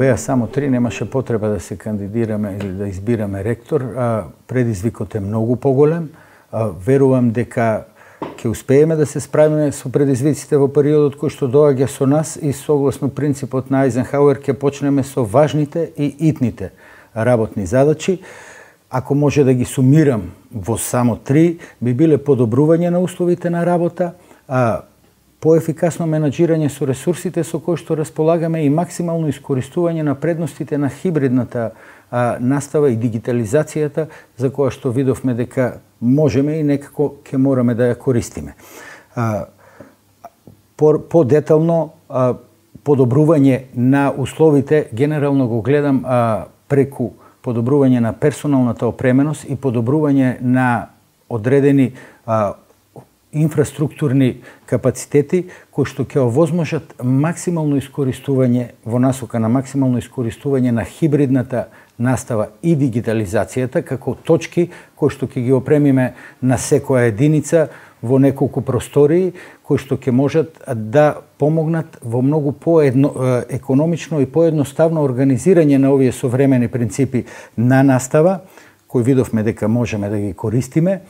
беа само 3, немаше потреба да се кандидираме или да избираме ректор. Предизвикот е многу поголем. Верувам дека ќе успееме да се справиме со предизвиците во периодот кој што доаѓа со нас и согласно принципот на Ајзенхауер ќе почнеме со важните и итните работни задачи. Ако може да ги сумирам во само 3, би биле подобрување на условите на работа, поефикасно менаџирање со ресурсите со кои што располагаме и максимално искористување на предностите на хибридната настава и дигитализацијата за која што видовме дека можеме и некако ќе мораме да ја користиме. По-детално подобрување на условите, генерално го гледам преку подобрување на персоналната опременост и подобрување на одредени инфраструктурни капацитети кои што ќе овозможат максимално искористување во насока на максимално искористување на хибридната настава и дигитализацијата како точки кои што ќе ги опремиме на секоја единица во неколку простории кои што ќе можат да помогнат во многу економично и поедноставно организирање на овие современи принципи на настава кои видовме дека можеме да ги користиме.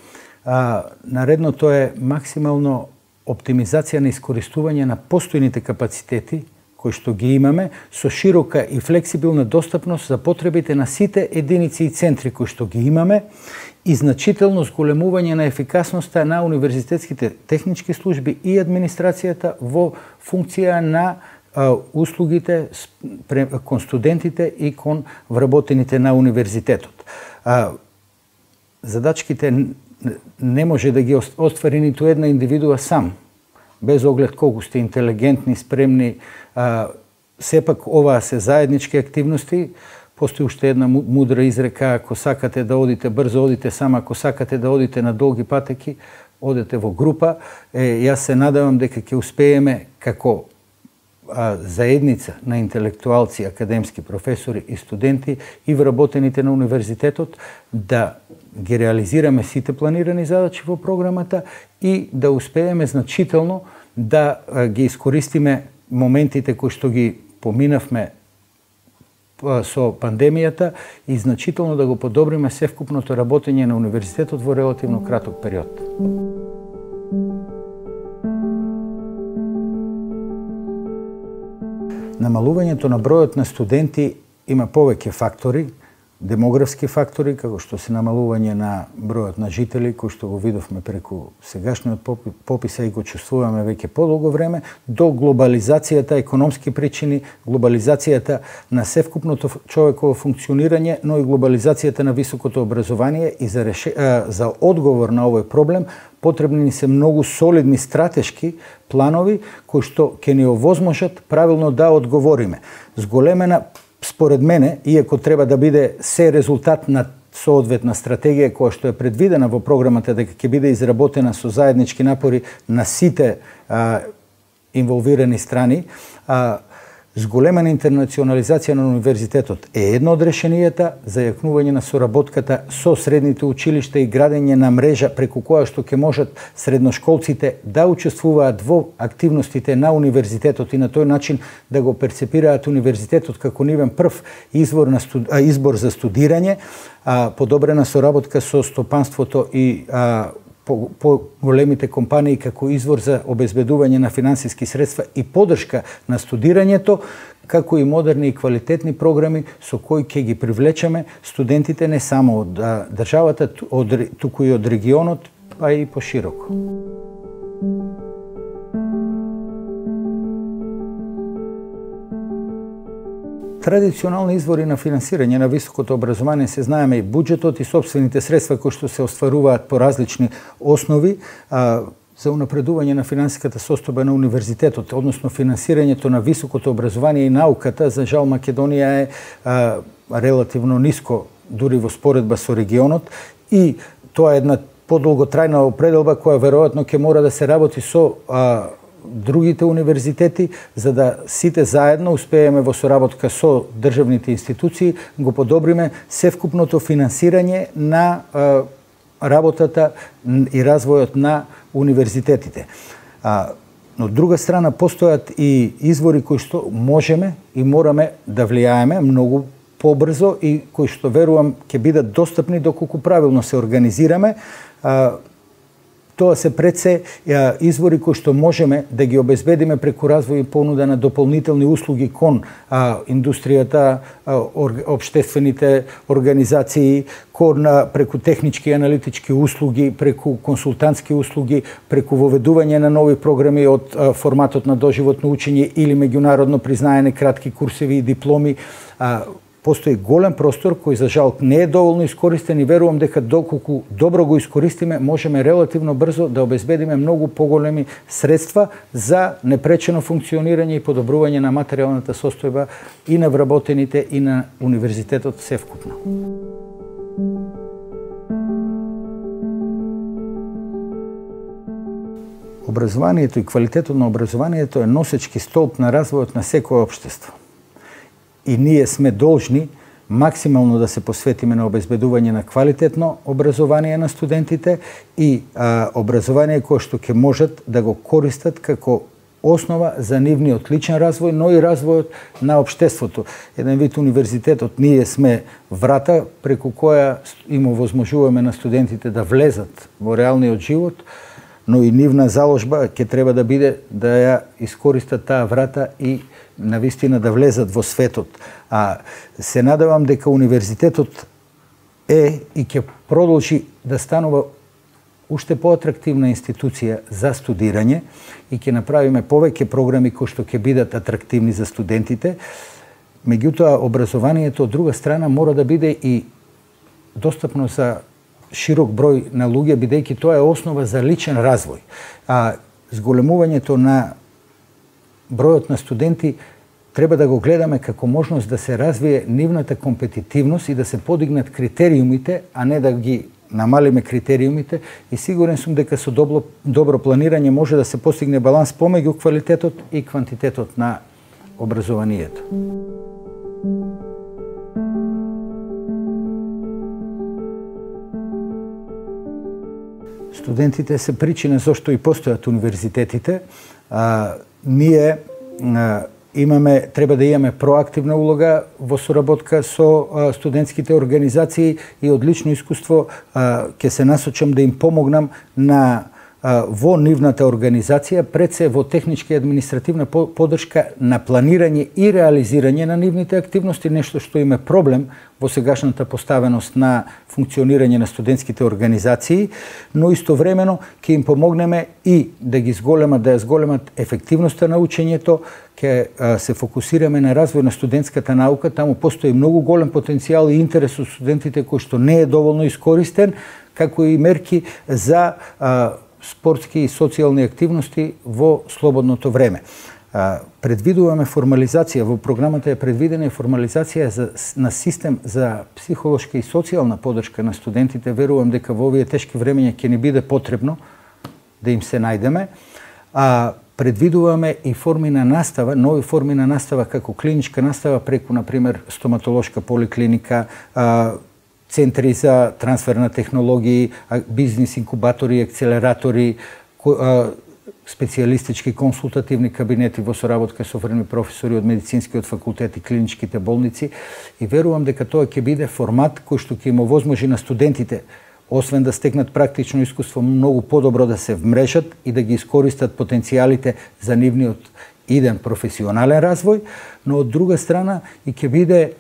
Наредното е максимално оптимизација на искористување на постојните капацитети кои што ги имаме со широка и флексибилна достапност за потребите на сите единици и центри кои што ги имаме и значително зголемување на ефикасноста на универзитетските технички служби и администрацијата во функција на услугите кон студентите и кон вработените на универзитетот. Задачките не може да ги оствари ниту една индивидуа сам, без оглед колку сте интелигентни, спремни. Сепак оваа се заеднички активности. Постои уште една мудра изрека: ако сакате да одите брзо, одите сам, ако сакате да одите на долги патеки, одете во група. Јас се надевам дека ќе успееме како заедница на интелектуалци, академски професори и студенти и вработените на универзитетот да ги реализираме сите планирани задачи во програмата и да успееме значително да ги искористиме моментите кои што ги поминавме со пандемијата и значително да го подобриме севкупното работење на универзитетот во релативно краток период. Намалувањето на бројот на студенти има повеќе фактори, демографски фактори, како што се намалување на бројот на жители, кој што го видовме преку сегашниот попис и го чувствуваме веќе подолго време, до глобализацијата, економски причини, глобализацијата на севкупното човеково функционирање, но и глобализацијата на високото образование и за одговор на овој проблем потребни ни се многу солидни стратешки планови кои што ќе ни овозможат правилно да одговориме. Зголемена, според мене, иако треба да биде се резултат на соодветна стратегија која што е предвидена во програмата дека ќе биде изработена со заеднички напори на сите инволвирани страни, зголемена интернационализација на универзитетот е едно од решенијата за јакнување на соработката со средните училишта и градење на мрежа преку која што ќе можат средношколците да учествуваат во активностите на универзитетот и на тој начин да го перцепираат универзитетот како нивен прв избор за студирање, подобрена соработка со стопанството и по големите компании како извор за обезбедување на финансиски средства и поддршка на студирањето, како и модерни и квалитетни програми со кои ќе ги привлечеме студентите не само од државата, туку и од регионот, па и пошироко. Традиционални извори на финансирање на високото образование се знаеме и буџетот и сопствените средства кои што се остваруваат по различни основи за унапредување на финансиската состојба на универзитетот, односно финансирањето на високото образование и науката. За жал Македонија е релативно ниско дури во споредба со регионот и тоа е една подолготрајна определба која веројатно ќе мора да се работи со другите универзитети, за да сите заедно успееме во соработка со државните институции го подобриме севкупното финансирање на работата и развојот на универзитетите. Но од друга страна постојат и извори кои што можеме и мораме да влијаеме многу побрзо и кои што верувам ќе бидат достапни доколку правилно се организираме. Тоа се пред се извори кои што можеме да ги обезбедиме преку развој и понуда на дополнителни услуги кон индустријата, општествените организации, кон преку технички и аналитички услуги, преку консултантски услуги, преку воведување на нови програми од форматот на доживотно учење или меѓународно признаени кратки курсеви и дипломи. Постои голем простор кој за жал не е доволно искористен и верувам дека доколку добро го искористиме, можеме релативно брзо да обезбедиме многу поголеми средства за непречено функционирање и подобрување на материјалната состојба и на вработените и на универзитетот севкупно. Образованието и квалитетот на образованието е носечки столб на развојот на секое општество. И ние сме должни максимално да се посветиме на обезбедување на квалитетно образование на студентите и образование кое што ќе можат да го користат како основа за нивниот личен развој, но и развојот на општеството. Еден вид универзитетот, ние сме врата преку која им овозможуваме на студентите да влезат во реалниот живот, но и нивна заложба ќе треба да биде да ја искористат таа врата и навистина да влезат во светот. Се надевам дека универзитетот е и ќе продолжи да станува уште поатрактивна институција за студирање и ќе направиме повеќе програми кои што ќе бидат атрактивни за студентите. Меѓутоа, образованието од друга страна мора да биде и достапно за широк број на луѓе, бидејќи тоа е основа за личен развој. Зголемувањето на бројот на студенти треба да го гледаме како можност да се развие нивната компетитивност и да се подигнат критериумите, а не да ги намалиме критериумите. И сигурен сум дека со добро планирање може да се постигне баланс помеѓу квалитетот и квантитетот на образованието. Студентите се причина зашто и постојат универзитетите. Ние треба да имаме проактивна улога во соработка со студентските организации и од лично искуство ќе се насочам да им помогнам во нивната организација, пред се во техничка и административна поддршка на планирање и реализирање на нивните активности, нешто што им е проблем во сегашната поставеност на функционирање на студентските организации, но истовремено ќе им помогнеме и да ја зголемат ефективноста на учењето, ќе се фокусираме на развој на студентската наука, таму постои многу голем потенцијал и интерес од студентите кој што не е доволно искористен, како и мерки за спортски и социјални активности во слободното време. Предвидуваме формализација, во програмата е предвидена формализација на систем за психолошка и социјална поддршка на студентите. Верувам дека во овие тешки времења ќе ни биде потребно да им се најдеме. Предвидуваме и форми на настава, нови форми на настава како клиничка настава преку, например, стоматолошка поликлиника, центри за трансфер на технологии, бизнис инкубатори, акцелератори, специјалистички консултативни кабинети во соработка со врвни професори од медицинскиот факултет и клиничките болници. И верувам дека тоа ќе биде формат кој што ќе им овозможи на студентите, освен да стекнат практично искуство, многу подобро да се вмрежат и да ги искористат потенцијалите за нивниот иден професионален развој, но од друга страна и ќе биде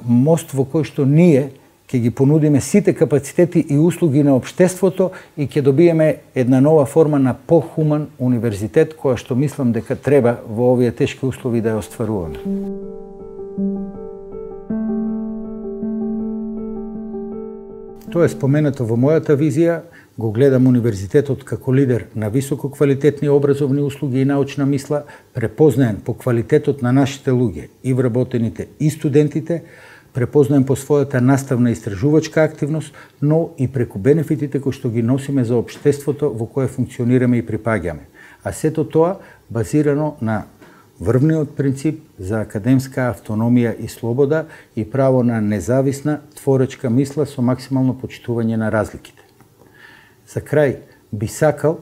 мост во кој што ние ќе ги понудиме сите капацитети и услуги на општеството и ќе добиеме една нова форма на похуман универзитет, која што мислам дека треба во овие тешки услови да ја остваруваме. Тоа е споменато во мојата визија. Го гледам универзитетот како лидер на високо квалитетни образовни услуги и научна мисла, препознаен по квалитетот на нашите луѓе, и вработените, и студентите, препознаем по својата наставна истражувачка активност, но и преку бенефитите кои што ги носиме за општеството во кое функционираме и припаѓаме. А сето тоа базирано на врвниот принцип за академска автономија и слобода и право на независна творечка мисла со максимално почитување на разликите. За крај би сакал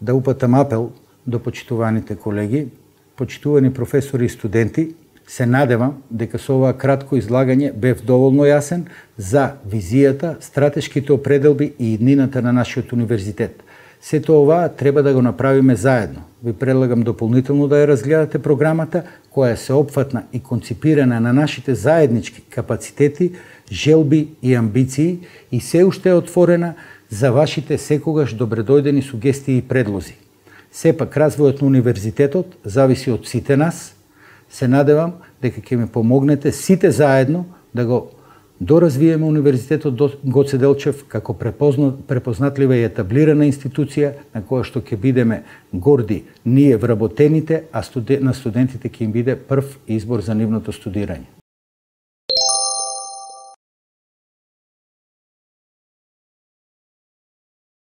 да упатам апел до почитуваните колеги, почитувани професори и студенти, се надевам дека со оваа кратко излагање бев доволно јасен за визијата, стратешките определби и иднината на нашиот универзитет. Сето ова треба да го направиме заедно. Ви предлагам дополнително да ја разгледате програмата, која е сеопфатна и конципирана на нашите заеднички капацитети, желби и амбиции и се уште е отворена за вашите секогаш добредојдени сугестии и предлози. Сепак, развојот на универзитетот зависи од сите нас. Се надевам дека ќе ми помогнете сите заедно да го доразвиеме Универзитетот Гоце Делчев како препознатлива и етаблирана институција на која што ќе бидеме горди ние вработените, а на студентите ќе им биде прв избор за нивното студирање.